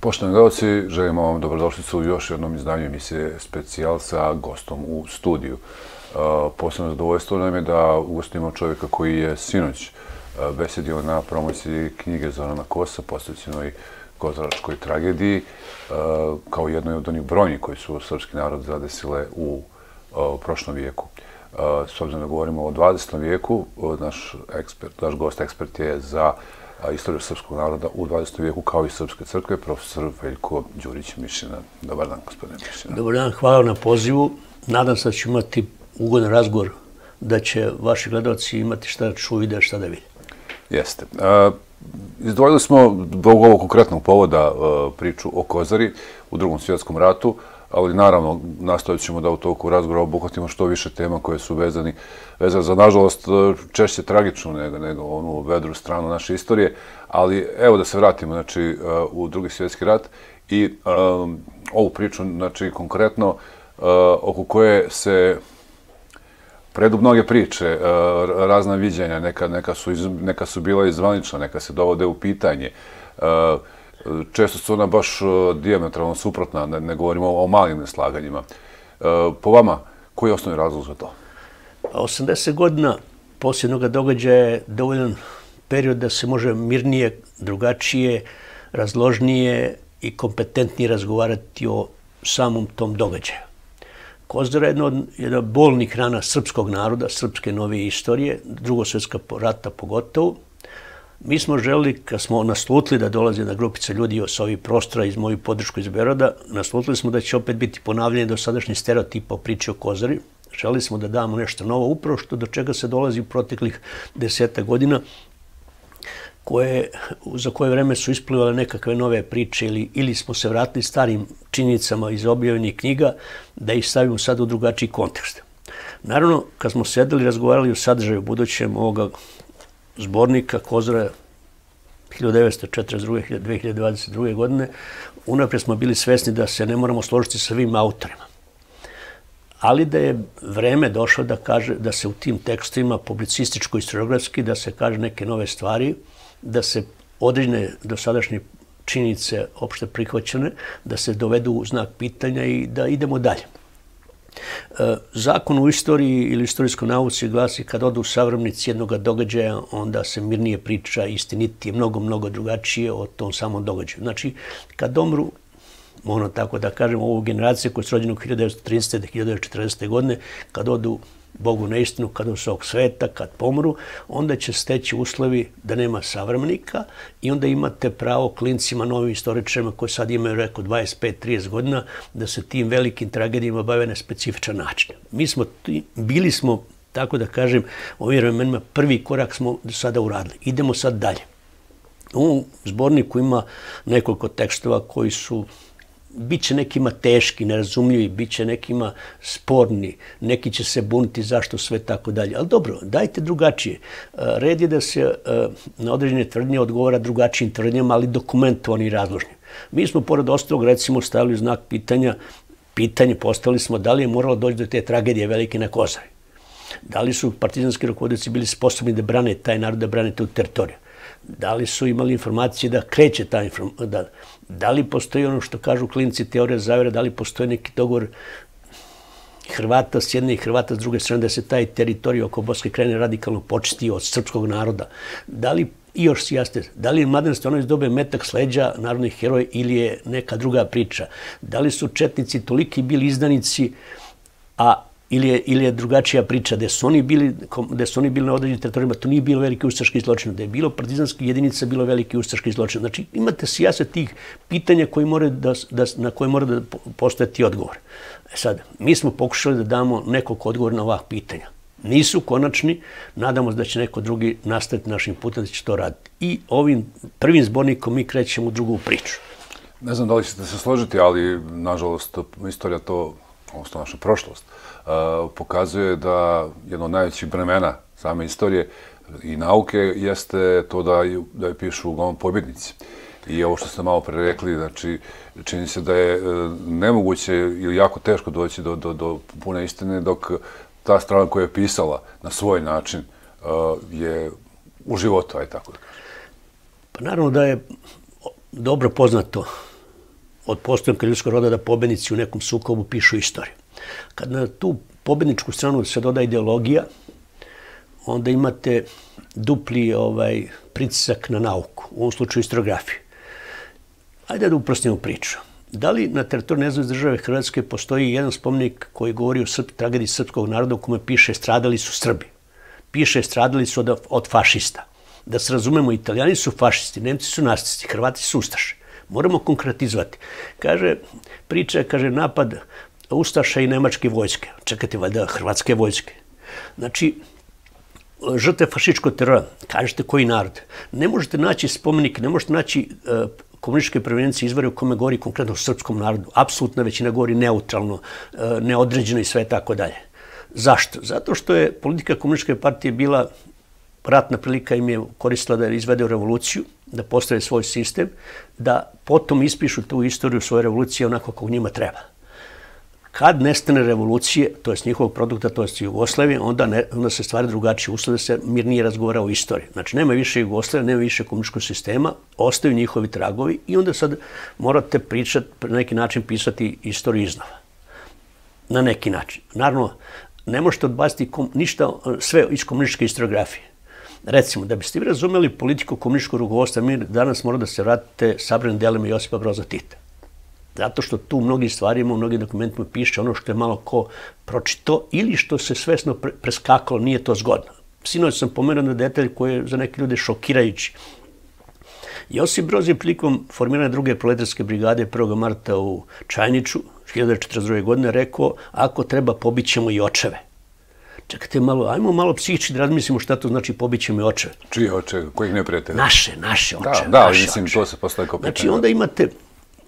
Poštovani gledalci, želimo vam dobrodošlicu u još jednom izdanju emisije Specijal sa gostom u studiju. Posebno zadovoljstvo nam je da ugostimo čovjeka koji je sinoć besedio na promociji knjige Zorana Kosa, posvećenoj kozaračkoj tragediji, kao jednoj od onih brojnih koji su srpski narod zadesile u prošlom vijeku. S obzirom da govorimo o 20. vijeku, naš gost ekspert je za istoriju srpskog naroda u 20. vijeku, kao i Srpske crkve, profesor Veljko Đurić-Mišina. Dobar dan, gospodine Mišina. Dobar dan, hvala na pozivu. Nadam se da ću imati ugodan razgovor, da će vaši gledalci imati šta da čuju i da šta da vide. Jeste. Izdvojili smo zbog ovog konkretnog povoda priču o Kozari u Drugom svjetskom ratu, ali naravno nastojat ćemo da u toku razgovora obuhvatimo što više tema koje su vezane za, nažalost, češće tragičnu nego onu vedru stranu naše istorije, ali evo da se vratimo u Drugi svjetski rat i ovu priču konkretno oko koje se predu mnoge priče, razna viđenja, neka su bila izvanična, neka se dovode u pitanje. Često su ona baš dijametralno suprotna, ne govorimo o malim neslaganjima. Po vama, koji je osnovni razlog za to? 80 godina posljednog događaja je dovoljan period da se može mirnije, drugačije, razložnije i kompetentnije razgovarati o samom tom događaju. Kozara je jedna od bolnih rana srpskog naroda, srpske novije istorije, Drugog svjetskog rata pogotovo. Mi smo želeli, kad smo naslutili da dolazi jedna grupica ljudi sa ovih prostora iz moju podršku iz Beograda, naslutili smo da će opet biti ponavljanje dosadašnjih stereotipa o priči o Kozari. Želeli smo da damo nešto novo, upravo do čega se dolazi u proteklih 10 godina, za koje vreme su isplivale nekakve nove priče ili smo se vratili starim činjenicama iz objavljenih knjiga, da ih stavimo sad u drugačiji kontekst. Naravno, kad smo sedeli i razgovarali o sadržaju budućem ovoga zbornika Kozara 1942-2022. godine, unaprijed smo bili svesni da se ne moramo složiti sa svim autorima. Ali da je vreme došlo da se u tim tekstovima publicističko-historiografski da se kaže neke nove stvari, da se određene dosadašnje činjenice opšte prihvaćene, da se dovedu u znak pitanja i da idemo dalje. Zakon u istoriji ili istorijskoj nauci glasi kad odu savremenici jednog događaja, onda se mirnije priča, istinitije, mnogo drugačije o tom samom događaju. Znači, kad omru, ono tako da kažem, ovu generaciju koja je rođena u 1930. do 1940. godine, kad odu Bogu na istinu, kad od svog sveta, kad pomru, onda će steći uslovi da nema savremenika i onda imate pravo klincima, novim istoričarima koji sad imaju, rekao, 25-30 godina, da se tim velikim tragedijama bave na specifičan način. Bili smo, tako da kažem, u ovim vremenima prvi korak smo do sada uradili. Idemo sad dalje. U zborniku ima nekoliko tekstova koji su biće nekima teški, nerazumljivi, biće nekima sporni, neki će se buniti zašto sve tako dalje. Ali dobro, dajte drugačije. Red je da se na određene tvrdnje odgovara drugačijim tvrdnjama, ali dokumentovani i razložni. Mi smo, pored ostalog, recimo, stavili znak pitanje postavili smo da li je moralo doći do te tragedije velike na Kozari. Da li su partizanski rukovodioci bili sposobni da brane taj narod, da brane tu teritoriju. Da li su imali informacije da kreće ta informacija, da li postoji ono što kažu klinci teorija zavere, da li postoji neki dogovor Hrvata s jedne i Hrvata s druge strane da se taj teritorij oko Boske krajine radikalno počisti od srpskog naroda. Da li, i još si jasne, da li je Mladen Stevanović dobio metak s leđa narodnih heroja ili je neka druga priča? Da li su četnici toliki bili izdanici, ili je drugačija priča, gde su oni bili na određenim teritorijama, to nije bilo veliki ustaški zločin, da je bilo partizanski jedinica, bilo veliki ustaški zločin. Znači, imate sijase tih pitanja na koje mora da postojati odgovor. Sad, mi smo pokušali da damo nekoliko odgovora na ova pitanja. Nisu konačni, nadamo se da će neko drugi nastaviti našim putem da će to raditi. I ovim prvim zbornikom mi krećemo u drugu priču. Ne znam da li ćete se složiti, ali, nažalost, istorija to, odnosno naša prošlost, pokazuje da jedno od najvećih bremena same istorije i nauke jeste to da je pišu uglavnom pobjednici. I ovo što ste malo pre rekli, znači, čini se da je nemoguće ili jako teško doći do pune istine, dok ta strana koja je pisala na svoj način je u životu, aj tako da kažem. Pa naravno da je dobro poznato od postojanka ljudskog roda da pobednici u nekom sukobu pišu istoriju. Kad na tu pobedničku stranu se doda ideologija, onda imate dupli pritisak na nauku, u ovom slučaju historiografiju. Ajde da uprostimo priču. Da li na teritoriji nezavisne države Hrvatske postoji jedan spomenik koji govori o tragediji srpskog naroda u kome piše stradali su Srbi? Piše stradali su od fašista. Da se razumemo, Italijani su fašisti, Nemci su nacisti, Hrvati su ustaše. Moramo konkretizovati. Priča kaže napad ustaša i nemačke vojske. Čekajte, valjda hrvatske vojske. Znači, žrtve fašističkog terora, kažete koji narod. Ne možete naći spomenik, ne možete naći komunističke prevencije izvore u kome govori konkretno o srpskom narodu. Apsolutna većina govori neutralno, neodređeno i sve tako dalje. Zašto? Zato što je politika komunističke partije bila ratna prilika, im je koristila da izvede revoluciju, da postave svoj sistem, da potom ispišu tu istoriju svoje revolucije onako kako njima treba. Kad nestane revolucije, to je njihovog produkta, to je Jugoslavije, onda se stvari drugačije uslede, se mirnije razgovara o istoriji. Znači, nema više Jugoslavije, nema više komunističkog sistema, ostaju njihovi tragovi i onda sad morate pričati, na neki način pisati istoriju iznova. Na neki način. Naravno, ne možete odbaciti ništa, sve iz komunističke historiografije. Recimo, da biste vi razumeli politiku komunističkog rukovodstva, mi danas mora da se vratite sabranim delima Josipa Broza Tita. Zato što tu u mnogim stvarima, u mnogim dokumentima piše ono što je malo ko pročito ili što se svesno preskakalo, nije to zgodno. Sinoć sam pomenuo na detalj koji je za neke ljude šokirajući. Josip Broz je prilikom formiranja druge proletarske brigade 1. marta u Čajniču 1942. godine rekao, ako treba pobićemo i očeve. Čekajte malo, ajmo malo psihički da razmislimo šta to znači pobićemo i očeve. Čije očeve? Kojih neprijatelja? Naše očeve. Da, mislim, to se postaje kao pitanje. Znači, onda imate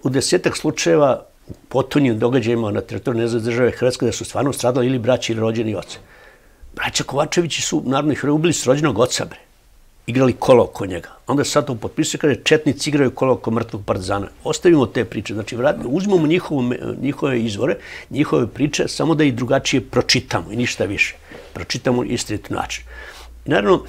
u 10-ak slučajeva u potonjim događajima na teritoriji nezavisne države Hrvatske da su stvarno stradali ili braći ili rođeni oce. Braća Kovačevići su narodni heroji, ubili su rođenog oca, bre. Igrali kola oko njega. Onda sad to potpisuje kada četnici igraju kola oko mrtvog partizana. Ostavimo te priče. Znači, uzmemo njihove izvore, njihove priče, samo da ih drugačije pročitamo i ništa više. Pročitamo istinit način. I naravno,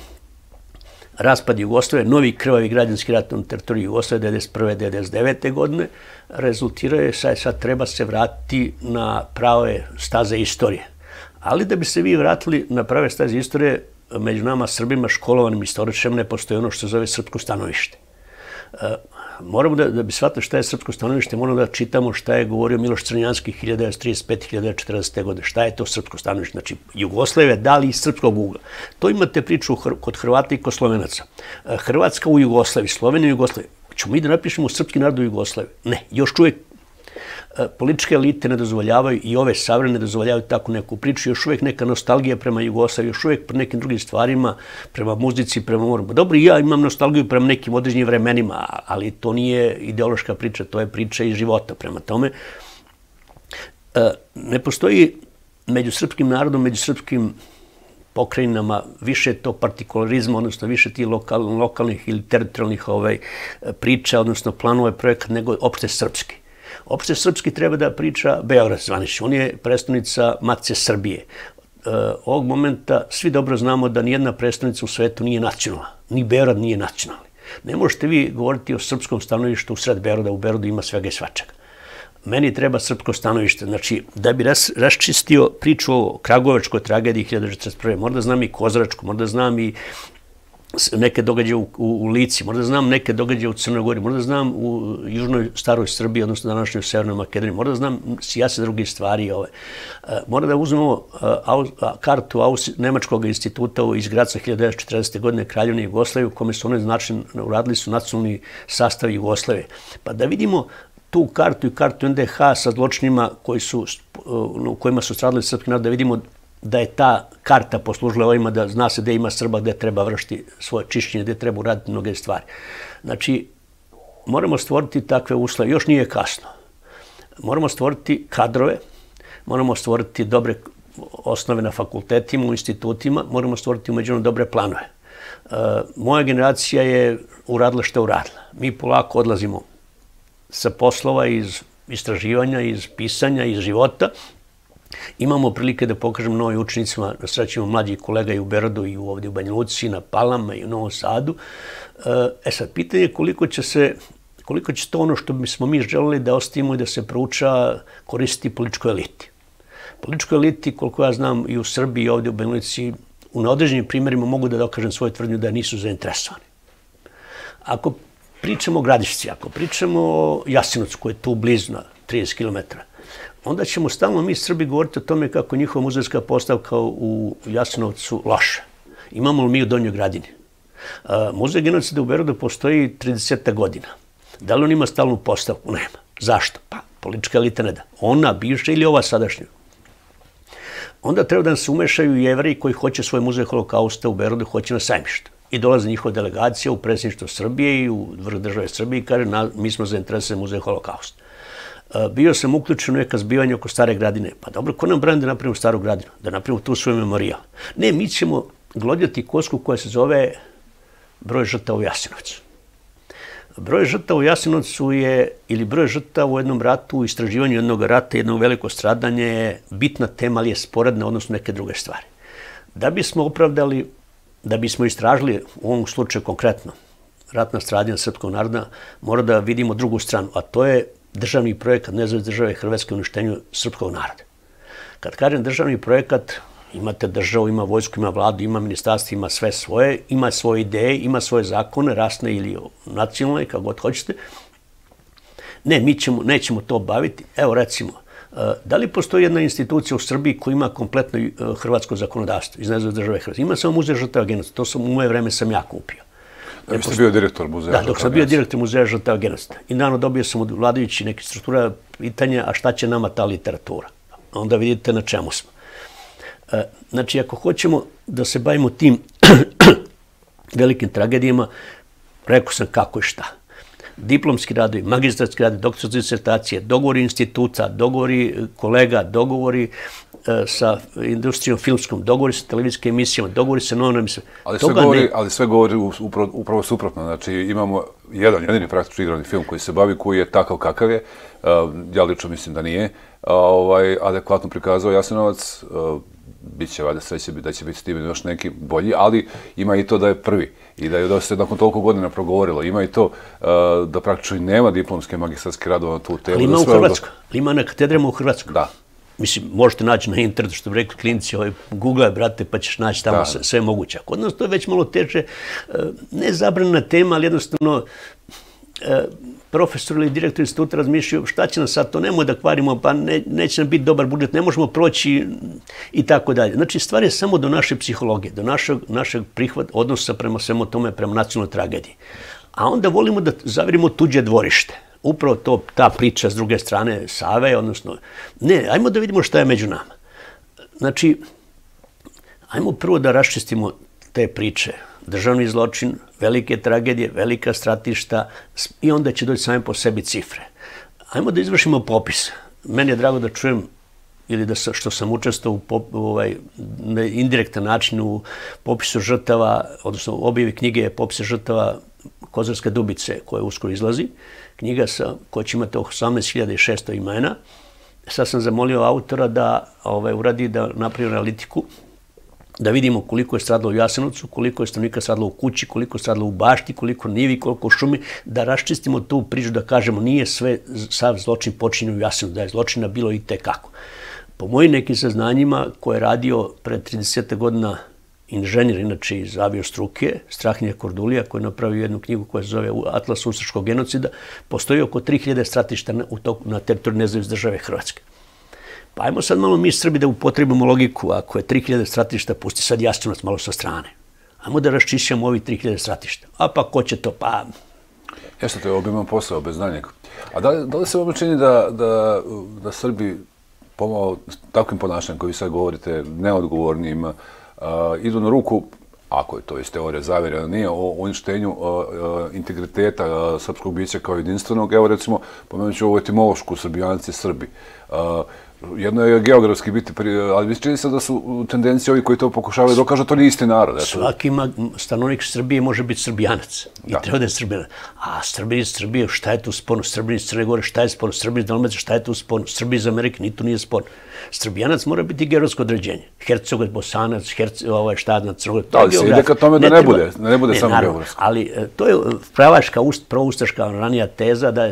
raspad Jugoslavije, novi krvavi građanski rat na teritoriji Jugoslavije 1991. 1999. godine, rezultirao je sad treba se vratiti na prave staze istorije. Ali da bi se vi vratili na prave staze istorije, među nama Srbima, školovanim istoričarima, ne postoji ono što se zove srpsko stanovište. Moramo da bi shvatili šta je srpsko stanovište, moramo da čitamo šta je govorio Miloš Crnjanski 1935-1940. godine. Šta je to srpsko stanovište? Znači, Jugoslavija dali iz srpskog ugla. To imate priču kod Hrvata i kod Slovenaca. Hrvatska u Jugoslaviji, Slovenija u Jugoslaviji. Ćemo mi da napišemo srpski narod u Jugoslaviji? Ne, još uvijek političke elite ne dozvoljavaju i ove savremene ne dozvoljavaju takvu neku priču. Još uvijek neka nostalgija prema Jugoslaviji, još uvijek prema nekim drugim stvarima, prema muzici, prema moru. Dobro, i ja imam nostalgiju prema nekim određenim vremenima, ali to nije ideološka priča, to je priča iz života. Prema tome, ne postoji među srpskim narodom, među srpskim pokrajinama više to partikularizma, odnosno više ti lokalnih ili teritorijalnih priča, odnosno planova projekata, nego opšte srpski. Opšte srpski treba da priča Beograd zvanično. On je predstavnica Matice Srbije. Ovog momenta svi dobro znamo da nijedna predstavnica u svetu nije nacionalna. Ni Beograd nije nacionalni. Ne možete vi govoriti o srpskom stanovištu u sred Beograda. U Beogradu ima svega i svačega. Meni treba srpsko stanovište. Znači, da bi raščistio priču o Kragujevačkoj tragediji 1941. Mora da znam i Kozaračku, mora da znam i neke događaje u Lici, možda znam neke događaje u Crnoj Gori, možda znam u južnoj staroj Srbiji, odnosno današnjoj Severnoj Makedoniji, možda znam sjase drugih stvari. Mora da uzmemo kartu Nemačkog instituta iz Graca 1940. godine Kraljevine Jugoslavije, u kome su oni uradili su nacionalni sastav Jugoslavije. Pa da vidimo tu kartu i kartu NDH sa zločinima u kojima su stradali srpski narod, da vidimo da je ta karta poslužila ovima da zna se gde ima Srba, gde treba vršiti svoje čišćenje, gde treba uraditi mnoge stvari. Znači, moramo stvoriti takve uslove. Još nije kasno. Moramo stvoriti kadrove, moramo stvoriti dobre osnove na fakultetima, u institutima, moramo stvoriti umeđunarodno dobre planove. Moja generacija je uradila što je uradila. Mi polako odlazimo sa poslova iz istraživanja, iz pisanja, iz života. Imamo prilike da pokažemo novim učenicima, da srećemo mlađih kolega i u Beogradu i ovdje u Banja Luci, na Palama i u Novom Sadu. Sad, pitanje je koliko će to ono što bismo mi želeli da ostavimo i da se prouča koristiti političkoj eliti. Političkoj eliti, koliko ja znam, i u Srbiji i ovdje u Banja Luci, na određenim primjerima mogu da dokažem svoju tvrdnju da nisu zainteresovani. Ako pričamo o Gradišci, ako pričamo o Jasenovcu koji je tu blizu na 30 km, onda ćemo stalno mi Srbi govoriti o tome kako je njihova muzejska postavka u Jasenovcu loša. Imamo li mi u Donjoj Gradini? Muzej genocida u Beogradu postoji 30 godina. Da li on ima stalnu postavku? Nema. Zašto? Pa, politička elita ne da. Ona, bivša ili ova sadašnja. Onda treba da se umešaju i Jevreji koji hoće svoj muzej holokausta u Beogradu, hoće na Sajmište. I dolaze njihova delegacija u predsjedništvo Srbije i u vrh države Srbije i kaže mi smo zainteresovani muzej holokausta. Bio sam uključen u neka zbivanja oko Stare Gradine. Pa dobro, ko nam brani da napravimo Staru Gradinu? Da napravimo tu svoj memorijal? Ne, mi ćemo glodjati kosku koja se zove broj žrtava u Jasenovcu. Broj žrtava u Jasenovcu je, ili broj žrtava u jednom ratu, u istraživanju jednog rata, jedno veliko stradanje je bitna tema, ali je sporedna odnosno neke druge stvari. Da bismo opravdali, da bismo istražili u ovom slučaju konkretno ratna stradanja srpskog naroda, mora da vidimo drugu stranu, a to je državni projekat Nezavisne države Hrvatske u uništenju srpskog naroda. Kad kažem državni projekat, imate državu, ima vojsku, ima vladu, ima ministarstvo, ima sve svoje, ima svoje ideje, ima svoje zakone, rasne ili nacionalne, kako god hoćete. Ne, mi nećemo to baviti. Evo recimo, da li postoji jedna institucija u Srbiji koja ima kompletno hrvatsko zakonodavstvo iz Nezavisne države Hrvatske? Ima samo muzej žrtava genocida, to u moje vreme sam ja kupio. Da biste bio direktor muzeja žrtava genocida? Da, dok sam bio direktor muzeja žrtava genocida. I naravno dobio sam od vladajući neke struktura pitanja, a šta će nama ta literatura? Onda vidite na čemu smo. Znači, ako hoćemo da se bavimo tim velikim tragedijama, rekao sam kako i šta. Diplomski radovi, magistarski radovi, doktorske disertacije, dogovori instituta, dogovori kolega, dogovori sa industrijom filmskom, dogovori sa televizijskim emisijama, dogovori sa novinama. Ali sve govori upravo suprotno. Znači, imamo jedini praktično igrani film koji se bavi, koji je takav kakav je. Ja lično mislim da nije adekvatno prikazao Jasenovac. Biće valjda sreće da će biti s tim još neki bolji, ali ima i to da je prvi i da je dosta nakon toliko godina progovorilo. Ima i to da praktično i nema diplomske magistarske radove na tu temu. Ali ima u Hrvatskoj. Ali ima na katedrama u Hrvatskoj. Da. Mislim, možete naći na internetu, što bi rekli klinici, googlaj, brate, pa ćeš naći tamo sve moguće. Kod nas to je već malo teže, ne zabranjena tema, ali jednostavno profesor ili direktor instituta razmišljaju šta će nam sad, to nemoj da kvarimo, pa neće nam biti dobar budžet, ne možemo proći i tako dalje. Znači, stvar je samo do naše psihologije, do našeg odnosa prema svemu tome, prema nacionalnoj tragediji. A onda volimo da zavirimo tuđe dvorište. Upravo ta priča s druge strane Save, odnosno, ne, ajmo da vidimo šta je među nama. Znači, ajmo prvo da raščistimo te priče. Državni zločin, velike tragedije, velika stratišta i onda će doći same po sebi cifre. Ajmo da izvršimo popis. Meni je drago da čujem ili da što sam učestvovao na indirektan način u popisu žrtava, odnosno objavi knjige popisa žrtava Kozarske Dubice, koja uskoro izlazi. Knjiga koja će imati 18.600 imena. Sad sam zamolio autora da uradi, da napravi analitiku, da vidimo koliko je stradalo u Jasenovcu, koliko je stanovnika stradalo u kući, koliko je stradalo u bašti, koliko nivi, koliko u šumi, da raščistimo tu priču, da kažemo nije sav zločin počinjen u Jasenovcu, da je zločina bilo i tekako. Po mojim nekim saznanjima koje je radio pred 30 godina inženjer, inače iz aviostruke, Strahinja Kordulija, koji je napravio jednu knjigu koja se zove Atlas ustaškog genocida, postoji oko 3000 stratišta na teritoriju Nezavisne države Hrvatske. Pa ajmo sad malo mi Srbi da upotrebimo logiku, ako je 3000 stratišta, pusti sad Jasenovac malo sa strane. Ajmo da raščišćamo ovih 3000 stratišta. A pa ko će to? Pa... Jeste, to je obiman posao, bez znanja. A da li se vam čini da Srbi pomalo takvim ponašanjem koji vi sad govorite, neodgovornim, idu na ruku, ako je to iz teorije zavere, nije, o uništenju integriteta srpskog bića kao jedinstvenog? Evo recimo, pomenut ću ovu etimološku Srbijanci Srbi. Jedno je geografski biti, ali čini se da su tendencije ovi koji to pokušavaju dokažu, to nije isti narod. Svaki stanovnik Srbije može biti Srbijanac i treba da je Srbijanac. A Srbi iz Srbije, šta je tu sporno? Srbi iz Crne Gore, šta je sporno? Srbi iz Dalmacije, šta je tu sporno? Srbi iz Amerike, ni tu nije sporno. Srbijanac mora biti geografsko određenje. Hercegovac, Bosanac, šta na Crnogor. Da, ali se ide ka tome da ne bude samo geografsko. Ali to je pravaška, proustaška ranija teza da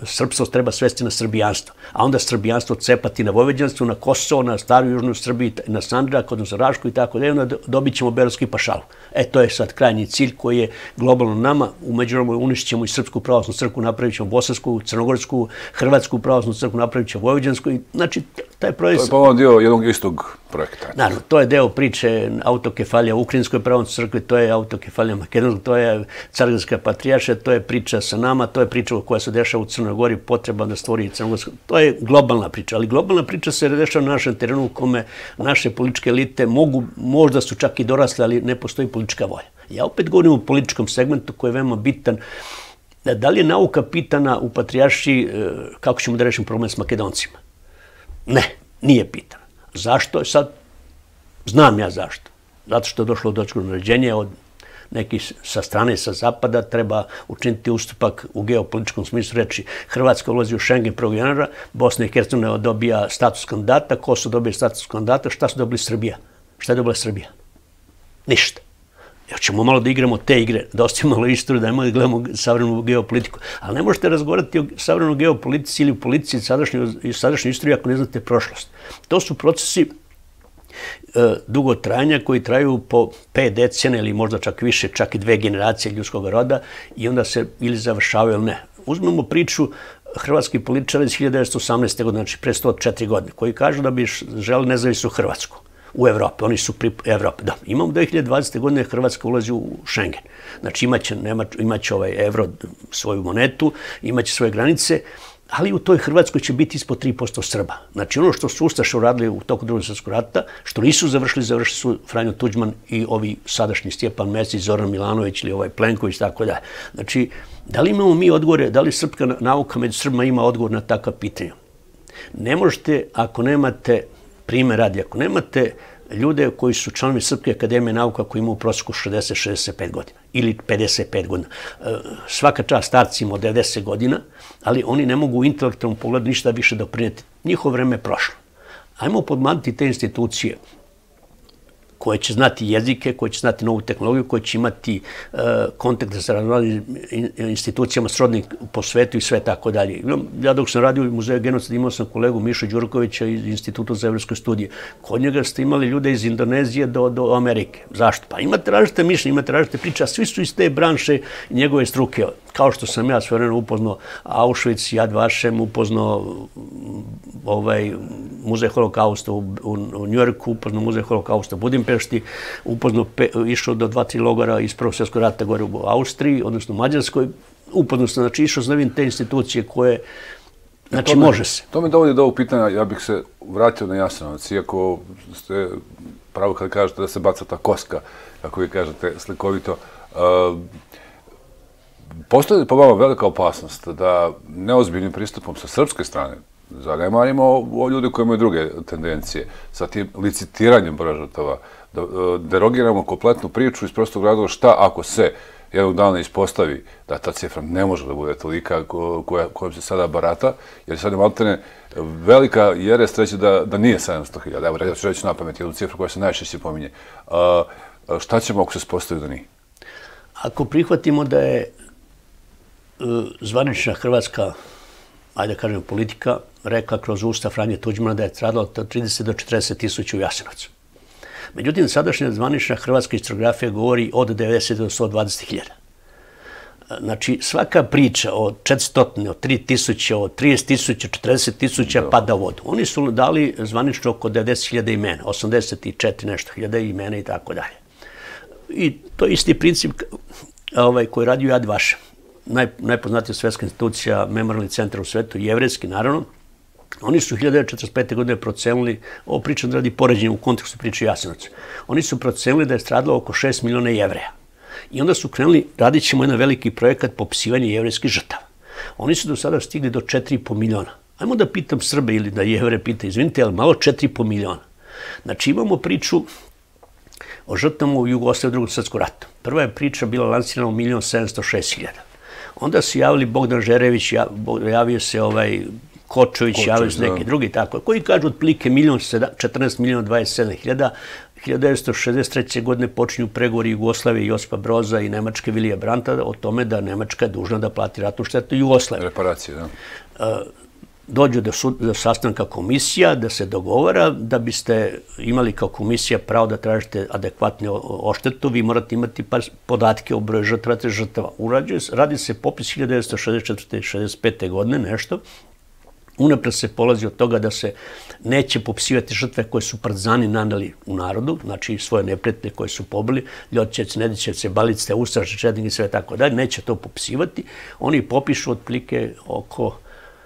srpstvo treba svesti na srbijanstvo, a onda srbijanstvo cepati na vojvođanstvo, na Kosovo, na staru južnu Srbiju, na Sandžak, odnosno Rašku i tako da, onda dobit ćemo Beogradski pašalu. To je sad krajnji cilj koji je globalno nama. U međuvremenu uništit ćemo i Srpsku pravoslavnu crkvu, napravit ćemo Bosansku, Crnogorsku, Hrvatsku pravoslavnu crkvu, napravit ćemo Vojvođansku. Znači, taj projekt... To je pomalo dio jednog istog projekta. Naravno, to je deo priče autokefalija Ukrajinskoj pravoslavnoj crkvi, to je autokefalija Makedonskoj, to je Cargradska patrijaršija, to je priča sa nama, to je priča koja se dešava u Crnoj Gori, potreba da stvori Crnogorsku. To je globalna priča, ali globalna priča se dešava na našem terenu u kome naše političke elite možda su čak i dorasle, ali ne postoji politička volja. Ja opet govorim o političkom segmentu koji je veoma bitan. Da li je nauka pitana u patrijaršiji kako ćemo da rešimo problem s Makedoncima? Ne, nije pitana. Zašto? Sad znam ja zašto. Zato što je došlo do dočkog naređenja od nekih sa strane, sa zapada, treba učiniti ustupak u geopolitičkom smislu reči. Hrvatska ulazi u Schengen 1. januara, Bosna i Hercegovina dobija status kandidata, Kosovo dobije status kandidata, šta su dobili Srbija? Šta je dobila Srbija? Ništa. Hoćemo malo da igramo te igre, da ostavimo malo istoriju, da nemoj da gledamo savremenu geopolitiku. Ali ne možete razgovarati o savremenoj geopolitici ili u politici sadašnjoj istoriji ako ne znate prošlost. To su procesi dugotrajanja koji traju po 5 decenija ili možda čak više, čak i 2 generacije ljudskog roda i onda se ili završavaju ili ne. Uzmemo priču hrvatskih političara iz 1918. godine, znači pre 104 godine, koji kažu da bi želeli nezavisnu Hrvatsku u Evropi. Oni su pri Evropi. Da, imamo 2020. godine Hrvatska ulazi u Schengen. Znači imaće evro svoju monetu, imaće svoje granice, ali u toj Hrvatskoj će biti ispod 3% Srba. Znači ono što su Ustaše uradili u toku Drugog svjetskog rata, što nisu završili su Franjo Tuđman i ovi sadašnji Stjepan Mesić, Zoran Milanović ili Plenković, tako da. Znači, da li imamo mi odgovore, da li srpska nauka među Srbima ima odgovor na takva pitanja? Ne možete, ako nemate primjer radi, ako nemate ljude koji su članovi Srpske akademije nauka koji imaju u prosjeku 60-65 godina ili 55 godina. Svaka čast starcima od 90 godina, ali oni ne mogu u intelektualnom pogledu ništa više doprinijeti. Njihovo vreme je prošlo. Ajmo podmaniti te institucije koje će znati jezike, koje će znati novu tehnologiju, koje će imati kontakte sa različitim institucijama srodnih po svetu i sve tako dalje. Ja dok sam radio u Muzeju genocida imao sam kolegu Mišu Đurkovića iz Instituta za evropske studije. Kod njega ste imali ljude iz Indonezije do Amerike. Zašto? Pa imate različite mišljenje, imate različite priče, a svi su iz te branše i njegove struke. Kao što sam ja sve vremena upoznao Auschwitz, Yad Vashem, upoznao Muzej holokausta u Njujorku, upoznao Muzej holokausta u Budimpešti, upoznao, išao do 2-3 logora iz Prvog svjetskog rata gore u Austriji, odnosno u Mađarskoj, upoznao sam, znači išao znam te institucije koje, znači može se. To me dovodi do ovog pitanja, ja bih se vratio na Jasenovac, iako ste pravo kad kažete da se baca ta koska, kako vi kažete slikovito, postoji li po vama velika opasnost da neozbiljnim pristupom sa srpske strane zanemarimo o ljude koji imaju druge tendencije, sa tim licitiranjem broja žrtava, da derogiramo kompletnu priču iz prostog razloga šta ako se jednog dana ispostavi da ta cifra ne može da bude tolika kojom se sada barata, jer sad je maltene velika jerest reći da nije 700.000. Evo, ja ću reći na pamet jednu cifru koja se najčešće pominje. Šta ćemo ako se ispostavi da nije? Ako prihvatimo da je zvanična hrvatska, ajde kažem, politika rekla kroz usta Franje Tuđmana da je stradalo od 30 do 40 tisuća u Jasenovcu. Međutim, sadašnja zvanična hrvatska historiografija govori od 90 do 120.000. Znači, svaka priča o 400, o 3.000, o 30.000, 40.000 pada u vodu. Oni su dali zvanično oko 90.000 imena, 84 nešto hiljada imena i tako dalje. I to je isti princip koji radi u Yad Vashem. Najpoznatija svjetska institucija, memorialni centar u svetu, jevrejski, naravno. Oni su 1945. godine procenili, ovo pričam da radi poređenje u kontekstu priče Jasenovca, oni su procenili da je stradalo oko 6 miliona Jevreja. I onda su krenuli, radit ćemo jedan veliki projekat popisivanja jevrejskih žrtava. Oni su do sada stigli do 4,5 miliona. Ajmo da pitam Srbe ili da Jevre pita, izvinite, ali malo 4,5 miliona. Znači imamo priču o žrtvama u Jugoslaviji u Drugom svjetskom ratu. Prva je priča bila lansirana u 1.706.000. Onda su javili Bogdan Žerević, javio se Kočović, javio se neki drugi tako, koji kažu otprilike 14.027.000. 1963. godine počinju pregovori Jugoslavije, Josipa Broza i Nemačke Vilija Branta o tome da Nemačka je dužna da plati ratnu štetu Jugoslavije. Reparacije, da. Dođu do sastanka komisija, da se dogovara, da biste imali kao komisija pravo da tražite adekvatnu oštetu, vi morate imati podatke o broju žrtava. Radi se popis 1964. i 1965. godine, nešto. Unapred se polazi od toga da se neće popisivati žrtve koje su partizani naneli u narodu, znači svoje neprijatelje koje su pobili, Ljotićevce, Nedićevce, Balice, Ustaše, Četnike i sve tako dalje, neće to popisivati. Oni popišu otprilike oko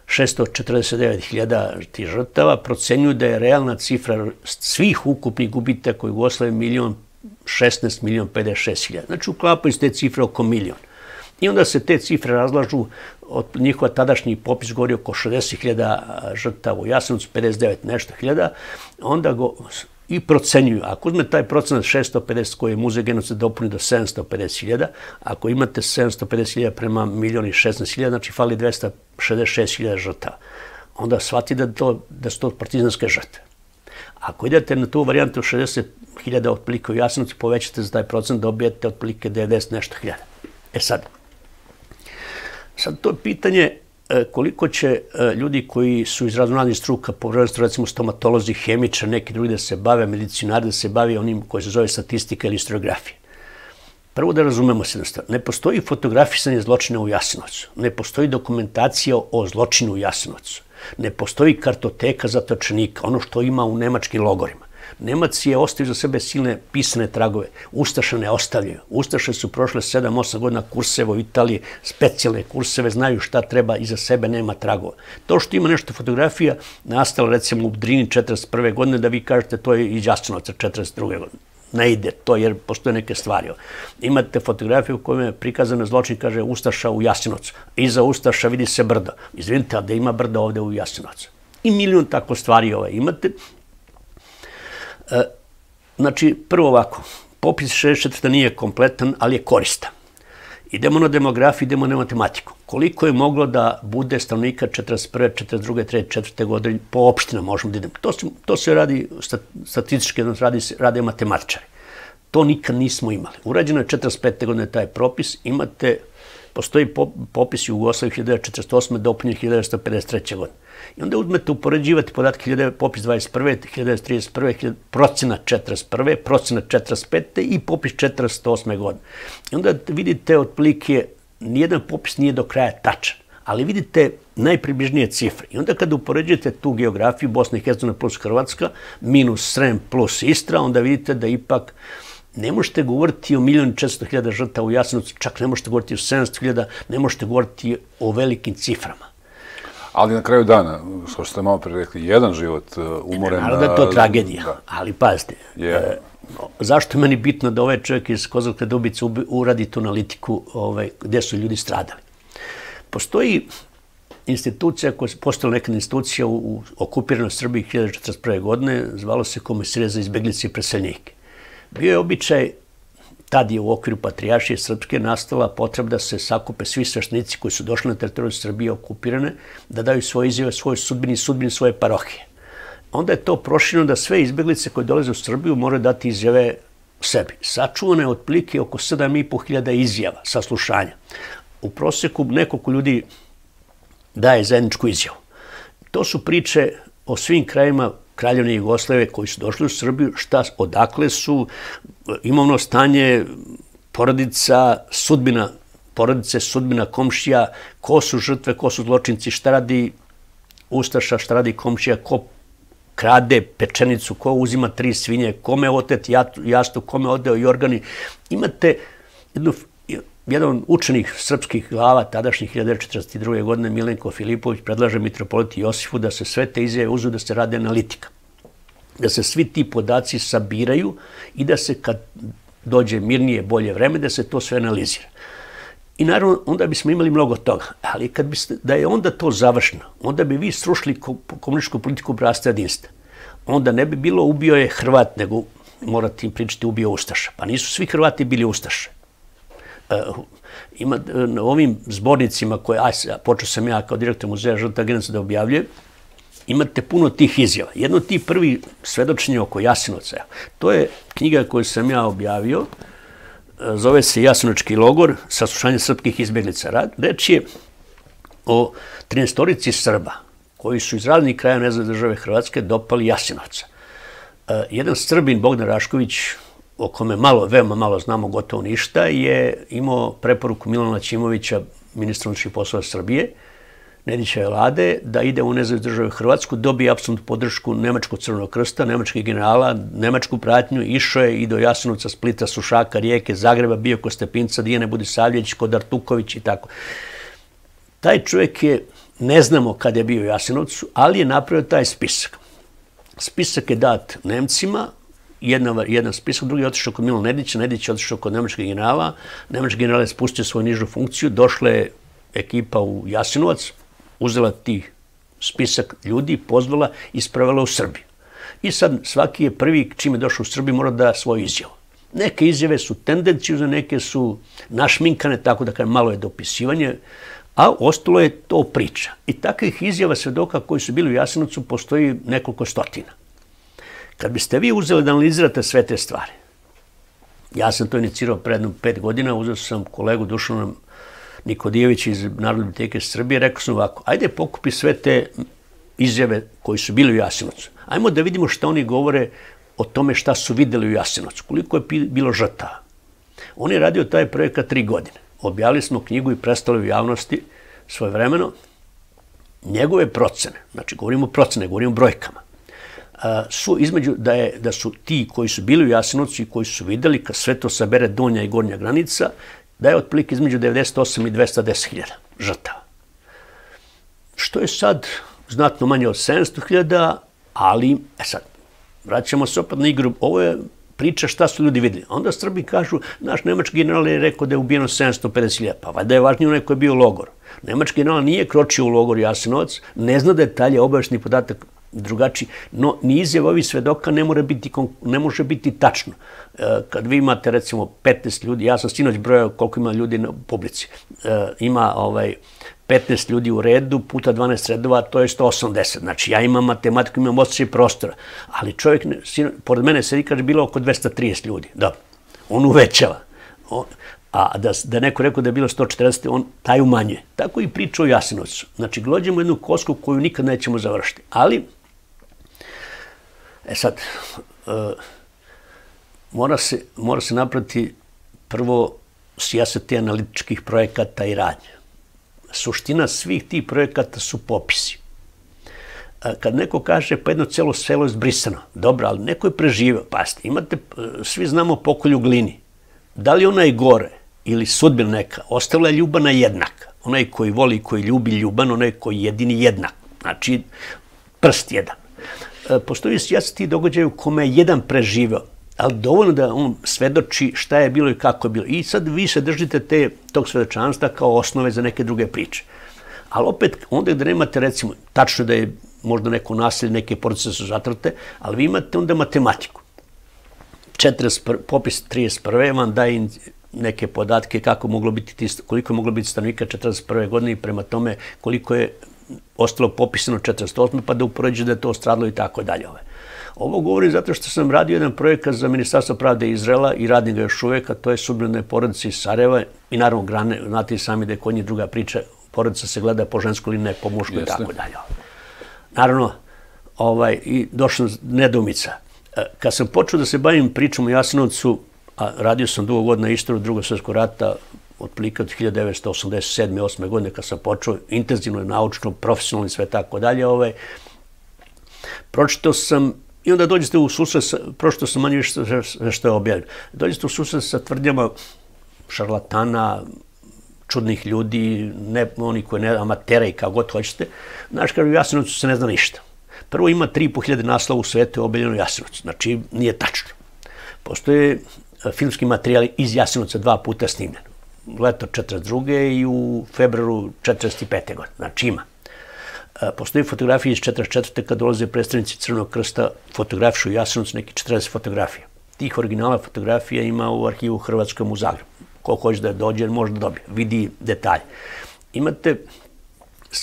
649.000 tih žrtava, procenjuju da je realna cifra svih ukupnih gubitaka u Jugoslaviji 1.016.056.000. Znači uklapaju se te cifre oko milion. I onda se te cifre razlažu, od njihova tadašnji popis govori oko 60.000 žrtava u Jasenovcu, 59 nešto hiljada, onda i procenjuju. Ako uzme taj procenat 650 koji je muzej genocida dopuni do 750.000, ako imate 750.000 prema 1.016.000, znači fali 266.000 žrtava. Onda shvati da su to partizanske žrtve. Ako idete na tu varijantu 60.000 otprilike u Jasenovcu, povećate za taj procent, dobijete otprilike 90 nešto hiljada. Sad to je pitanje koliko će ljudi koji su iz raznoraznih struka, prvenstveno recimo stomatolozi, hemičari, neki drugi da se bave, medicinari da se bave onim koji se zove statistika ili historiografija. Prvo da razumemo se jednostavno. Ne postoji fotografisanje zločina u Jasenovcu. Ne postoji dokumentacija o zločinu u Jasenovcu. Ne postoji kartoteka zatočenika, ono što ima u nemačkim logorima. Nemac je ostavio za sebe silne pisane tragove. Ustaše ne ostavljaju. Ustaše su prošle 7-8 godina kurseve u Italiji, specijalne kurseve, znaju šta treba, iza sebe nema tragova. To što ima nešto fotografija, nastala recimo u Drini 1941. godine, da vi kažete to je iz Jasenovca 1942. godine. Ne ide to jer postoje neke stvari. Imate fotografiju u kojoj je prikazana zločin, kaže Ustaša u Jasenovcu. Iza Ustaša vidi se brdo. Izvinite, a da ima brdo ovde u Jasenovcu. I milion tako stvari imate. Znači, prvo ovako, popis 64. nije kompletan, ali je koristan. Idemo na demografiju, idemo na matematiku. Koliko je moglo da bude stanovnika 41., 42., 44. godine po opštinama možemo da idemo. To se radi statistički, rade matematičari. To nikad nismo imali. Urađeno je 45. godine taj propis, postoji popis Jugoslavije 1948. dopunjen 1953. godine. I onda uzmete upoređivati podatke popis 21. 1931. procena 41. procena 45. i popis 48. godine. I onda vidite otprilike, nijedan popis nije do kraja tačan, ali vidite najpribližnije cifre. I onda kada upoređujete tu geografiju Bosna i Hercegovina plus Hrvatska minus Srem plus Istra, onda vidite da ipak ne možete govoriti o 1.400.000 žrtava u Jasenovcu, čak ne možete govoriti o 700.000, ne možete govoriti o velikim ciframa. Ali na kraju dana, što ste malo pre rekli, jedan život umoren... Naravno da je to tragedija, ali pazite, zašto je meni bitno da ovaj čovjek iz Kozarske Dubice uradi tu analitiku gde su ljudi stradali? Postoji institucija koja je postala neka institucija u okupiranoj Srbiji 1941. godine, zvalo se Komisarija za izbeglice i preseljenike. Bio je običaj, tad je u okviru Patrijaršije Srpske nastala potreba da se sakupe svi sveštenici koji su došli na teritoriju Srbije okupirane, da daju svoje izjave, svoje sudbini i sudbini svoje parohije. Onda je to prošireno da sve izbeglice koje dolaze u Srbiju moraju dati izjave sebi. Sačuvano je otprilike oko 7.500 izjava, saslušanja. U proseku nekoliko ljudi daje zajedničku izjavu. To su priče o svim krajima Kraljevine Jugoslavije koji su došli u Srbiju, odakle su, imovno stanje, porodica, sudbina porodice, sudbina komšija, ko su žrtve, ko su zločinci, šta radi ustaša, šta radi komšija, ko krade pečenicu, ko uzima 3 svinje, kome otet jastu, kome odeo i organi. Imate jedan učenik srpskih glava, tadašnjih 1942. godine, Milenko Filipović, predlaže mitropolitu Josifu da se sve te izjave uzu, da se rade analitika. Da se svi ti podaci sabiraju i da se kad dođe mirnije, bolje vreme, da se to sve analizira. I naravno, onda bismo imali mnogo toga. Ali da je onda to završeno, onda bi vi srušili komunističku politiku bratstva i jedinstva. Onda ne bi bilo ubio je Hrvat, nego morate im pričati ubio Ustaša. Pa nisu svi Hrvati bili Ustaše. Na ovim zbornicima koje, počeo sam ja kao direktor muzeja žrtava genocida da objavljujem, imate puno tih izjava. Jedno od tih prvi svedočenja oko Jasenovca, to je knjiga koju sam ja objavio, zove se Jasenovački logor, saslušanje srpskih izbjeglica. Reč je o 13-torici Srba koji su iz raznih kraja nezavisne države Hrvatske dopali Jasenovca. Jedan Srbin, Bogdan Rašković, o kome veoma malo znamo, gotovo ništa, je imao preporuku Milana Ćimovića, ministra unutrašnjih poslova Srbije, Nedićeve vlade, da ide u nezavisnu državu Hrvatsku, dobije apsolutnu podršku Nemačkog crvenog krsta, nemačkih generala, nemačku pratnju, išao je i do Jasenovca, Splita, Sušaka, Rijeke, Zagreba, bio kod Stepinca, Dijane Budisavljević, kod Artuković i tako. Taj čovjek je, ne znamo kad je bio u Jasenovcu, ali je napravio taj spisak. Spisak je dat Nemcima, jedan spisak, drugi je otišao kod Milana Nedića, Nedić je otišao kod nemačkih generala, nemački general je spustio svoju nižu funkciju, došla je ekipa u Jasenovac, uzela ti spisak ljudi, pozvala i ispravila u Srbiju. I sad svaki je prvi, čim je došao u Srbiju, mora da svoju izjavu. Neke izjave su tendencijuzne, neke su našminkane, tako da kažem, malo je dopisivanje, a ostalo je to priča. I takvih izjava svedoka koji su bili u Jasenovcu postoji nekoliko stotina. Kad biste vi uzeli da analizirate sve te stvari, ja sam to inicirao pred 5 godina, uzeo sam kolegu Dušana Nikodijevića iz Narodne biblioteke Srbije, rekao sam ovako, ajde pokupi sve te izjave koji su bili u Jasenovcu. Ajmo da vidimo šta oni govore o tome šta su videli u Jasenovcu, koliko je bilo žrtava. On je radio taj projekat 3 godine. Objavili smo knjigu i predstavili u javnosti svojevremeno. Njegove procene, znači govorimo o procene, govorimo o brojkama, su između da su ti koji su bili u Jasenovcu i koji su videli, kad sve to sabere donja i gornja granica, da je otprilike između 98 i 210.000 žrtava. Što je sad znatno manje od 700.000, ali, sad, vraćamo se opet na igru, ovo je priča šta su ljudi videli. Onda Srbi kažu, naš nemački general je rekao da je ubijeno 750.000, pa valjda je važnije onaj koji je bio u logoru. Nemački general nije kročio u logor Jasenovac, ne zna detalje, obaveštajni podatak drugačiji, no ni izjava ovih svedoka ne može biti tačno. Kad vi imate recimo 15 ljudi, ja sam sinoć brojao koliko ima ljudi na publici, ima 15 ljudi u redu puta 12 redova, to je 180. Znači ja imam matematiku, imam osjećaj prostora, ali čovjek, pored mene sedi, kaže, bilo oko 230 ljudi. Dobro, on uvećava. A da neko rekao da je bilo 140, on taj umanjuje. Tako i priča o Jasenovcu. Znači, glođemo jednu kosku koju nikad nećemo završiti. Ali, sad, mora se napraviti prvo sijaset analitičkih projekata i radnje. Suština svih tih projekata su popisi. Kad neko kaže pa jedno celo selo je zbrisano, dobro, ali neko je preživio. Pazite, svi znamo pokolj u Glini. Da li ona je gore ili sudbina neka, ostavila je ljubana jednaka. Onaj koji voli i koji ljubi ljuban, onaj koji jedini jednak. Znači, prst jedan. Postoji sijaset tih događaja u kome je jedan preživio, ali dovoljno da on svedoči šta je bilo i kako je bilo. I sad vi se držite tog svedočanstva kao osnove za neke druge priče. Ali opet, onda gde nemate, recimo, tačno da je možda neko nasilje, neke porodice su zatrte, ali vi imate onda matematiku. Popis 31. vam daje neke podatke koliko je moglo biti stanovnika 41. godine i prema tome koliko je ostalo popisano 48. pa da upoređuje da je to stradilo i tako dalje. Ovo govorim zato što sam radio jedan projekat za Ministarstvo pravde Izraela i radim ga još uvek, a to je sudbina porodice iz Sarajeva i naravno grane, znate i sami da je kod njih druga priča, porodica se gleda po ženskoj ili ne po muškoj i tako dalje. Naravno, i došla nedoumica. Kad sam počeo da se bavim pričom o Jasenovcu, a radio sam dugo godina istoriju Drugog svjetskog rata, otprilike od 1987. 8. godine kad sam počeo, intenzivno, naučno, profesionalno i sve tako dalje, pročitao sam, i onda dođete u susret, pročitao sam manje više sve što je objavljeno, dođete u susret sa tvrdnjama šarlatana, čudnih ljudi, oni koji ne, amatera i kao god hoćete. Znaš, kažu, u Jasenovcu se ne zna ništa. Prvo ima 3.500 naslova u svetu objavljeno u Jasenovcu, znači nije tačno. Postoje filmski materijali iz Jasenovca 2 puta snimljeni. leto 42. i u februaru 45. godine. Znači ima. Postoji fotografije iz 44. kad dolaze predstavnici Crvenog krsta, fotografišu Jasenovac, neki 40 fotografija. Tih originala fotografija ima u arhivu Hrvatskom u Zagrebu. Ko hoće da dođe, može da dobije. Vidi detalje. Imate,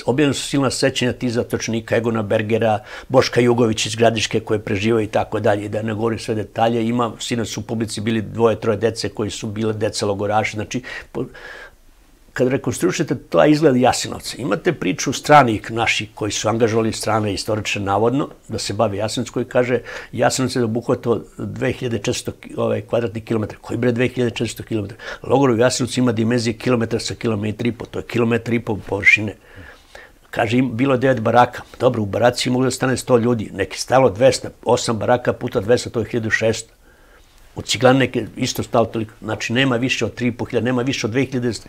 objavljena su silna sećanja tih zatočenika, Egona Bergera, Boška Jugovića iz Gradiške koje preživaju i tako dalje. Da ne govorim sve detalje, ima, sinoć su u publici bili 2-3 dece koji su bile deca logoraši. Znači, kad rekonstruišete to izgled Jasenovca, imate priču stranih naših koji su angažovali strane istoričare navodno da se bavi Jasenovac, koji kaže Jasenovac je obuhvatao 2400 kvadratnih kilometara. Koji bre 2400 kilometara? Logor u Jasenovcu ima dimenzije kilometra sa kilometra i po, to je kilometar i po površine. Kaže, bilo je 9 baraka. Dobro, u baraci moglo da stane 100 ljudi. Neki stalo 200, 8 baraka puta 200, to je 1600. U Ciglani neke isto stalo toliko. Znači, nema više od 3.500, nema više od 2000.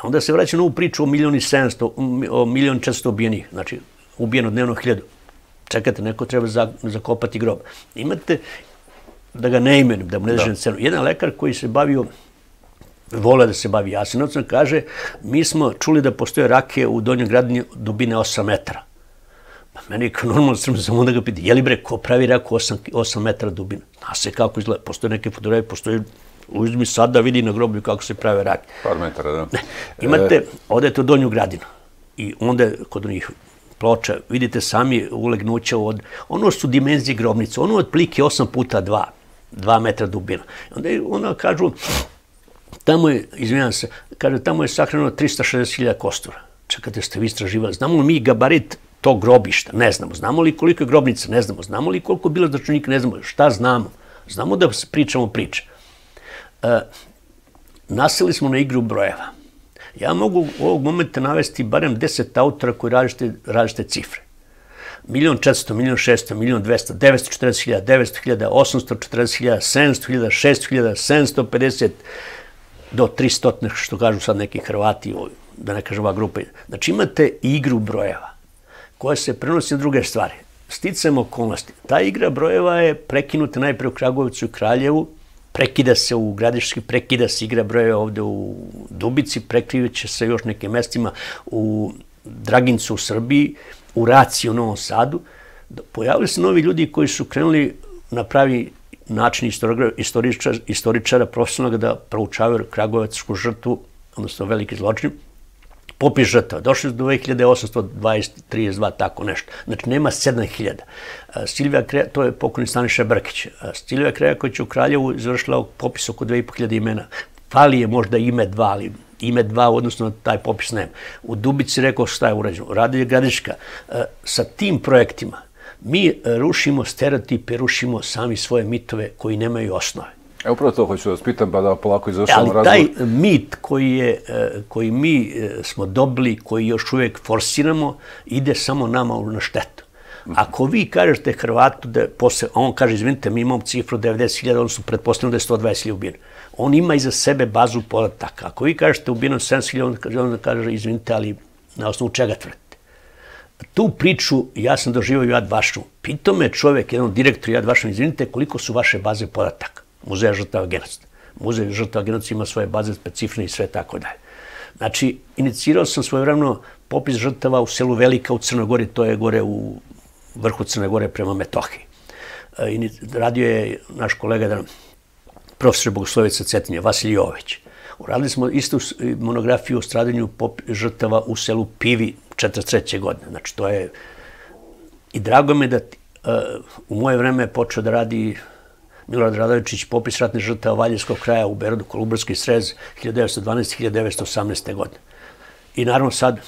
Onda se vraća na ovu priču o 1.400.000 ubijenih. Znači, ubijeno dnevno 1000. Čekajte, neko treba zakopati grob. Imate, da ga ne imenujem, da mu ne držem cenu, jedan lekar koji se bavio, vole da se bavi Jasenovcem, kaže, mi smo čuli da postoje rake u Donjoj Gradini dubine 8 metara. Pa meni kao normalno srme, samo onda ga piti, je li bre, ko pravi raku 8 metara dubine? Zna se kako izgleda, postoje neke fotografije, postoje, uzmi sad da vidi na groblju kako se prave rake. Par metara, da. Imate, odete u Donju Gradinu i onda kod onih ploča vidite sami ulegnuća od, ono su dimenzije grobnice, ono otprilike 8x2, 2 metra dubina. Onda kažu, tamo je, izvinjam se, kaže, tamo je sahranjeno 360.000 kostura. Čekajte, ste vi istraživali, znamo li mi gabarit tog grobišta? Ne znamo. Znamo li koliko je grobnica? Ne znamo. Znamo li koliko je bilo zatočenika? Ne znamo. Šta znamo? Znamo da pričamo priče. Naseli smo na igru brojeva. Ja mogu u ovog momenta navesti barem 10 autora koji različite cifre. 1.400.000, 1.600.000, 1.200.000, 940.000, 900.000, 840.000, 700.000, 600.000, 750 do 300, što kažu sad neki Hrvati, da ne kažem ova grupa. Znači imate igru brojeva koja se prenosi na druge stvari. Sticajem okolnosti. Ta igra brojeva je prekinuta najpre u Kragujevcu i Kraljevu, prekida se u Gradiški, prekida se igra brojeva ovde u Dubici, prekriveće se još nekim mestima u Dragincu u Srbiji, u Raci u Novom Sadu. Pojavili se novi ljudi koji su krenuli na pravi način istoričara profesionalnog da proučavaju Kragujevsku žrtvu, odnosno veliki zločin, popis žrtava. Došli do 2832, tako nešto. Znači, nema 7000. Silvija Kreja, to je pokojni Staniša Brkić. Silvija Kreja koja će u Kraljevu izvršila popis oko 2500 imena. Fali je možda ime 2, ali ime 2 odnosno na taj popis nema. U Dubici rekao šta je urađeno. Radi je Gradiška. Sa tim projektima mi rušimo stereotipe, rušimo sami svoje mitove koji nemaju osnove. Upravo to hoću da vas pitam, pa da polako izvršavamo razgovor. Ali taj mit koji mi smo dobili, koji još uvijek forsiramo, ide samo nama na štetu. Ako vi kažete Hrvatu da posle, a on kaže, izvinite, mi imamo cifru 90.000, odnosno pretpostavljamo da je 120.000 ubijeno. On ima iza sebe bazu podataka. Ako vi kažete ubijeno 7.000, onda kaže, izvinite, ali na osnovu čega tvrdite? Tu priču ja sam doživao Yad Vashem. Pitao me čovjek, jedan direktor Yad Vashem, izvinite, koliko su vaše baze podataka? Muzeja žrtava genocida. Muzej žrtava genocida ima svoje baze specifične i sve tako dalje. Znači, inicirao sam svojevremeno popis žrtava u selu Velika u Crnoj Gori, to je gore u vrhu Crne Gore prema Metohiji. Radio je naš kolega, profesor Bogoslovica Cetinje, Vasilij Jovović. Uradili smo istu monografiju o stradanju žrtava u selu Pivi 1943. godine. Znači, to je... I drago mi je da u moje vreme je počeo da radi Milorad Radovičić popis ratnih žrtava Valjevskog kraja u Berodu, Kolubarski srez 1912-1918. godine. I naravno sad,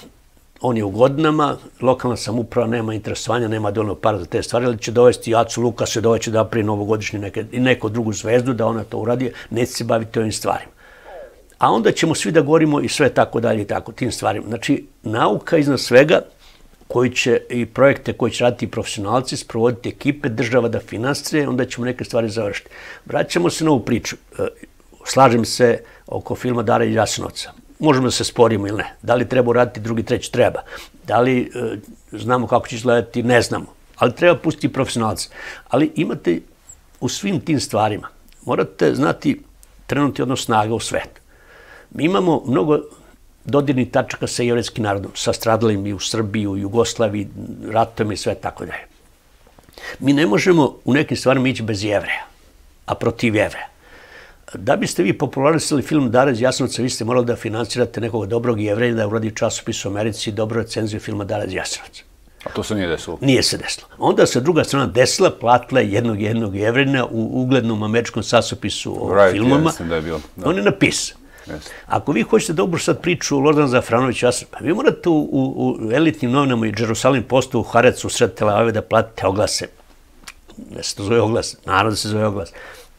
on je u godinama, lokalna samouprava nema interesovanja, nema dovoljno para za te stvari, ali će dovesti Acu Lukasa, doveće da napravi novogodišnju i neku drugu zvezdu da ona to uradi, neće se baviti ovim stvarima. A onda ćemo svi da govorimo i sve tako dalje i tako, tim stvarima. Znači, nauka iznad svega, koji će i projekte koji će raditi profesionalci, sprovoditi ekipe, država da finansije, onda ćemo neke stvari završiti. Vraćamo se na ovu priču. Slažem se oko filma Dara iz Jasenovca. Možemo da se sporimo ili ne. Da li treba uraditi drugi, treći? Treba. Da li znamo kako će izgledati? Ne znamo. Ali treba pustiti profesionalce. Ali imate u svim tim stvarima, morate znati trenuti odnos snaga u svetu. Mi imamo mnogo dodirnih tačaka sa jevrejskim narodom, sa stradalim i u Srbiji, u Jugoslaviji, ratom i sve tako dalje. Mi ne možemo u nekim stvarima ići bez Jevreja, a protiv Jevreja. Da biste vi popularisali film Dara iz Jasenovca, vi ste morali da finansirate nekog dobrog Jevreja, da uradi časopis u Americi i dobru recenziju filma Dara iz Jasenovca. A to se nije desilo? Nije se desilo. Onda se druga strana desila, platila jednog Jevrejina u uglednom američkom časopisu o filmama. Mislim da je bilo. On je napisao. Ako vi hoćete dobro sad priču o Lordanu Zafranoviću, vi morate u elitnim novinama i Jerusalim Postu u Harecu sred Tel Aviva da platite oglase. Da se to zove oglas, naravno da se zove oglas.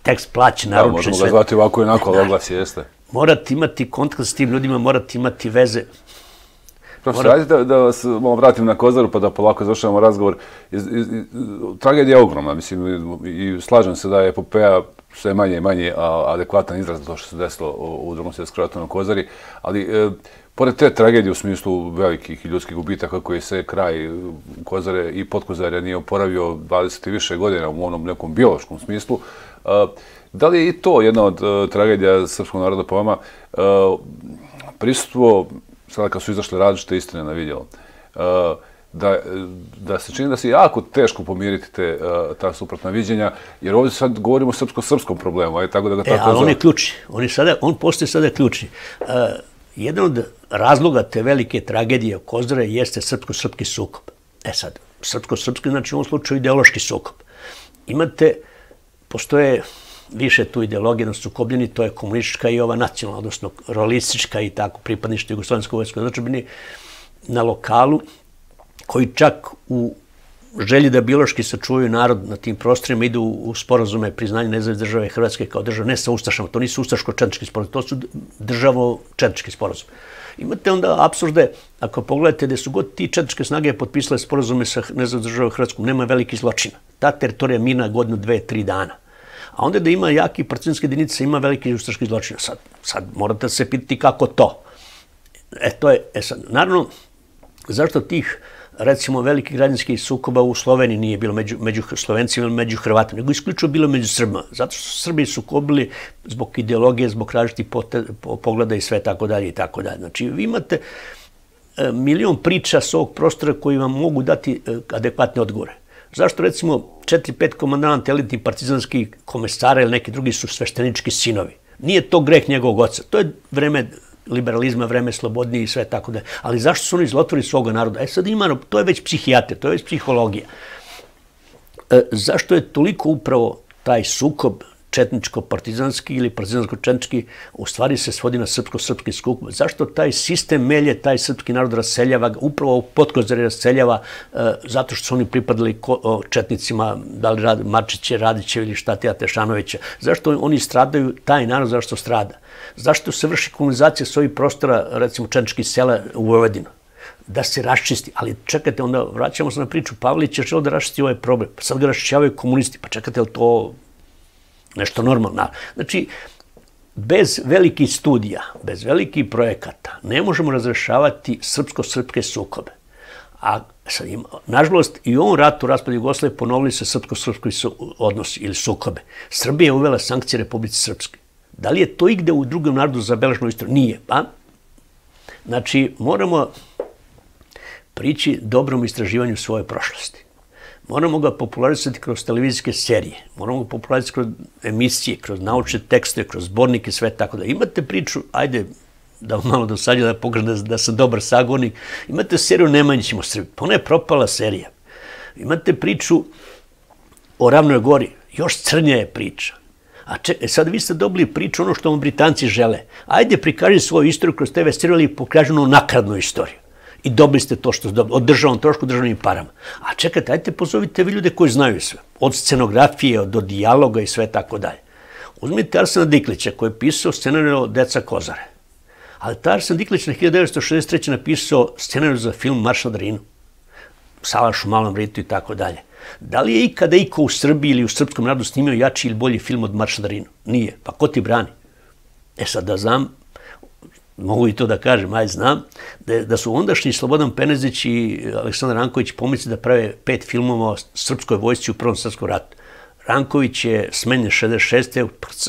Tekst plaći, naručen sve. Možemo ga zvati ovako i onako, ali oglas jeste. Morate imati kontakt s tim ljudima, morate imati veze. Profesor, ajde da vas malo vratim na Kozaru pa da polako završavamo razgovor. Tragedija je ogromna, mislim, i slažem se da je epopeja sve manje i manje adekvatan izraz za to što se desilo u Drugom svjetskom ratu na Kozari, ali pored te tragedije u smislu velikih ljudskih gubitaka koji se kraj Kozare i Podkozarja nije oporavio 20 i više godina u onom nekom biološkom smislu, da li je i to jedna od tragedija srpskog naroda po vama prisustvo, sada kad su izašle različite istine na vidjelo, da se čini da se jako teško pomiriti ta suprotna viđenja, jer ovdje sad govorimo o srpsko-srpskom problemu, aj tako da ga tako ali on je ključni. On postoji sada ključni. Jedan od razloga te velike tragedije Kozare jeste srpsko-srpski sukob. Sad, srpsko-srpski znači u ovom slučaju ideološki sukob. Postoje više tu ideologije na sukobljeni, to je komunistička i ova nacionalna, odnosno rolistička i tako pripadništvo Jugoslovenskog vojskog. Znači, na lokalu koji čak u želji da biološki sačuvaju narod na tim prostorima idu u sporazume priznanja nezavisne države Hrvatske kao države, ne sa ustašama, to nisu ustaško-četnički sporazum, to su državo-četnički sporazum. Imate onda apsurde, ako pogledate gde su god ti četničke snage potpisale sporazume sa nezavisnom državom Hrvatskom, nema velikih zločina. Ta teritorija mirna godinu, 2-3 dana. A onda da ima jaki partizanske jedinice, ima veliki ustaški zločina. Sad morate se pitati kako to. Naravno, zašto tih recimo velikih građanskih sukoba u Sloveniji nije bilo među Slovencima ili među Hrvatima, nego isključivo bilo među Srbima. Zato što su Srbi sukobili zbog ideologije, zbog različitih pogleda i sve tako dalje i tako dalje. Znači, vi imate milion priča s ovog prostora koji vam mogu dati adekvatne odgovore. Zašto recimo 4-5 komandanta elitnih partizanskih komesara ili neki drugi su sveštenički sinovi? Nije to greh njegovog oca. To je vreme liberalizma, vreme slobodnije i sve tako da. Ali zašto su oni zlotvori svoga naroda? Sad ima, to je već psihijatrija, to je već psihologija. Zašto je toliko upravo taj sukob četničko-partizanski ili partizansko-četnički u stvari se svodi na srpsko-srpski sukob? Zašto taj sistem melje, taj srpski narod raseljava, upravo Podkozarje raseljava zato što su oni pripadali četnicima, da li Marčiće, Radiće ili Štatija Tešanovića? Zašto oni stradaju, taj narod zašto strada? Zašto se vrši kolonizacija s ovih prostora, recimo četničkih sela u Vojvodinu? Da se raščisti. Ali čekajte, onda vraćamo se na priču. Pavlić je želeo da raščisti ovaj problem. Pa sad ga raščićavaju komunisti. Pa čekajte, je li to nešto normalno? Znači, bez velikih studija, bez velikih projekata, ne možemo razrešavati srpsko-srpske sukobe. A nažalost, i u ovom ratu raspad Jugoslavije ponovili se srpsko-srpski odnosi ili sukobe. Srbija je uvela sankcije Republici Srpske. Da li je to igde u drugom narodu zabeleženo istoriju? Nije. Znači, moramo prići dobrom istraživanju svoje prošlosti. Moramo ga popularisati kroz televizijske serije, moramo ga popularisati kroz emisije, kroz naučne tekste, kroz zbornike, sve tako da. Imate priču, ajde da malo dosađa da pokažem da sam dobar sagovornik, imate seriju Nemanjićima u Srbiji, pa ona je propala serija. Imate priču o Ravnoj Gori, još crnja je priča. A sad vi ste dobili priču ono što vam Britanci žele. Ajde prikaži svoju istoriju kroz TV seriju ili pokaži onu nakradnu istoriju. I dobili ste to što ste dobili, od državnom trošku, državnim parama. A čekajte, ajde pozovite vi ljude koji znaju sve. Od scenografije, do dijaloga i sve tako dalje. Uzmite Arsena Diklića koji je pisao scenariju Deca Kozare. Ali ta Arsen Diklić na 1963. napisao scenariju za film Marš na Drinu. Salaš u Malom Ritu i tako dalje. Da li je ikada iko u Srbiji ili u srpskom narodu snimio jači ili bolji film od Marša na Drinu? Nije. Pa ko ti brani? Sad da znam, mogu i to da kažem, znam, da su ondašnji Slobodan Penezić i Aleksandar Ranković pomislili da prave 5 filmova o srpskoj vojsci u Prvom svjetskom ratu. Ranković je smenjen 66.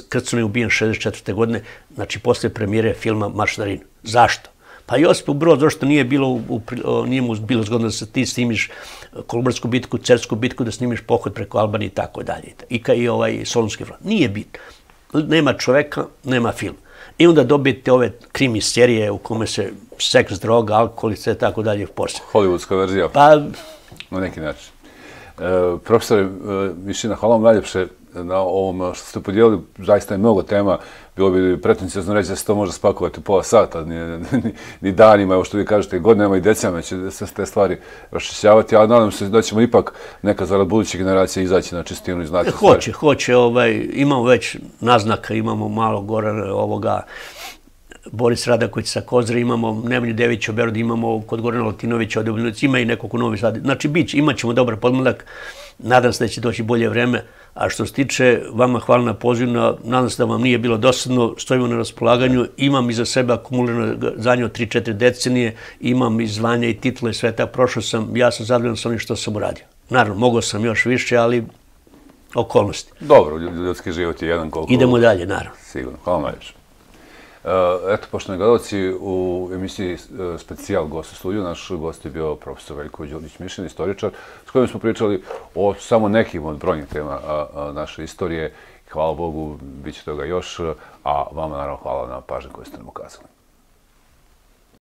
Krcun je ubijen 64. godine. znači posle premijere filma Marš na Rin. Zašto? Pa Josipu Broz, zašto nije mu bilo zgodno da se ti snimiš Kolubarsku bitku, Cersku bitku, da snimiš pohod preko Albanije i tako dalje. I Solunski front. Nije bitno. Nema čoveka, nema film. I onda dobijete ove krimi serije u kome se seks, droga, alkohol i sve tako dalje posle. Hollywoodska verzija. Pa... Na neki način. Profesore Mišina, hvala vam najljepše na ovom što ste podijelili. Zaista je mnogo tema. Bilo bi pretencijozno reći da se to može spakovati u pola sata, ni danima, evo što vi kažete, godinama i decenijama će se te stvari raščišćavati, ali nadam se da ćemo ipak neka zarad budućih generacija izaći na čistinu i znati stvari. Hoće. Imamo već naznaka, imamo malo gore ovoga Boris Radaković sa Kozre, imamo Nemanju Devića u Beogradu, imamo kod Gorana Latinovića od Obljenovića, ima i nekog u Novi Sad. Znači, imat ćemo dobar podmladak, nadam se da će doći bolje vreme, a što se tiče vama hvala na pozivu, nadam se da vam nije bilo dosadno, stojimo na raspolaganju, imam iza sebe akumulirano znanje od 3-4 decenije, imam i zvanja i titule, sve tako, prošao sam, ja sam zadovoljan sa onim što sam uradio. Naravno, mogao sam još više, ali okolnosti. Dobro, ljudski život je jedan koliko... Idemo dalje, naravno. Sigurno, hvala najviše. Eto, poštovani gledalci, u emisiji Specijal gost u studiju, naš gost je bio profesor Veljko Đurić-Mišin, istoričar, s kojim smo pričali o samo nekim od brojnih tema naše istorije. Hvala Bogu, bit će toga još, a vama naravno hvala na pažnju koju ste nam ukazali.